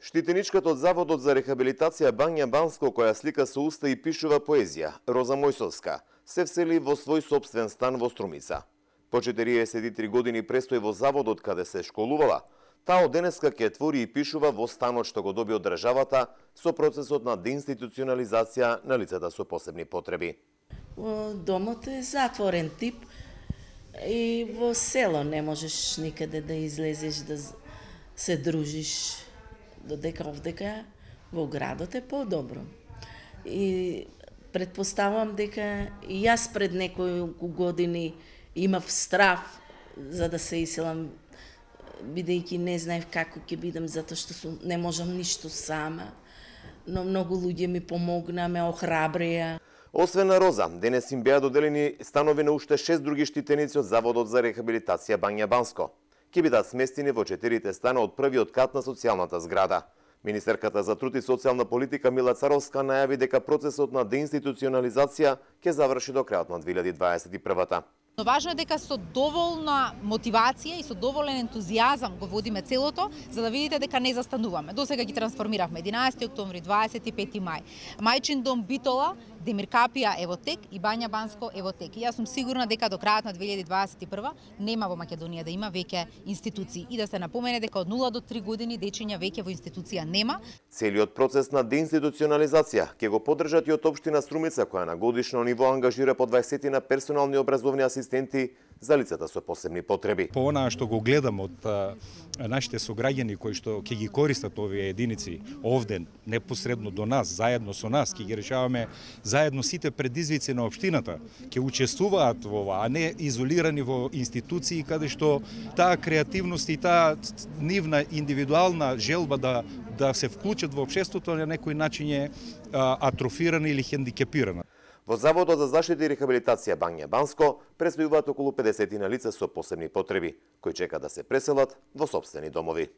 Штитеничката од Заводот за рехабилитација Бања Банско, која слика со уста и пишува поезија, Роза Мојсовска, се всели во свој сопствен стан во Струмица. По 43 години престои во заводот каде се школувала, таа од денеска ќе твори и пишува во станот што го доби од државата со процесот на деинституционализација на лицата со посебни потреби. Домот е затворен тип и во село не можеш никаде да излезеш да се дружиш, додека овдека во градот е подобро. И предпоставувам дека и јас пред неколку години имав страв за да се иселам, бидејќи не знаев како ќе бидам, затоа што не можам ништо сама, но многу луѓе ми помогна, ме охрабрија. Освен на Роза, денес им беа доделени станови на уште 6 други штитеници од Заводот за рехабилитација Бања Банско. Ќе бидат сместени во 4 стана од првиот кат на социјалната зграда. Министерката за труд и социјална политика Мила Царовска најави дека процесот на деинституционализација ќе заврши до крајот на 2021-та. Но важно е дека со доволна мотивација и со доволен ентузијазам го водиме целото, за да видите дека не застануваме. Досега ги трансформиравме 11 октомври, 25 мај. Мајчин дом Битола, Демир Капија е во тек и Бања Банско е во тек. И јас сум сигурна дека до крајот на 2021 нема во Македонија да има веќе институции и да се напомене дека од 0 до 3 години дечиња веќе во институција нема. Целиот процес на деинституционализација ќе го поддржат и од општина Струмица, која на годишно ниво ангажира по 20 на персонални образовни асистенти за лицата со посебни потреби. По онаа што го гледам од нашите сограѓани кои што ќе ги користат овие единици овде непосредно до нас, заедно со нас, ќе ги решаваме заедно сите предизвици на општината, ќе учествуваат во ова, а не изолирани во институции каде што таа креативност и таа нивна индивидуална желба да се вклучат во општеството на некој начин е атрофирана или хендикепирана. Во Заводот за заштита и рехабилитација Бања Банско престојуваат околу 50 лица со посебни потреби, кои чекаат да се преселат во сопствени домови.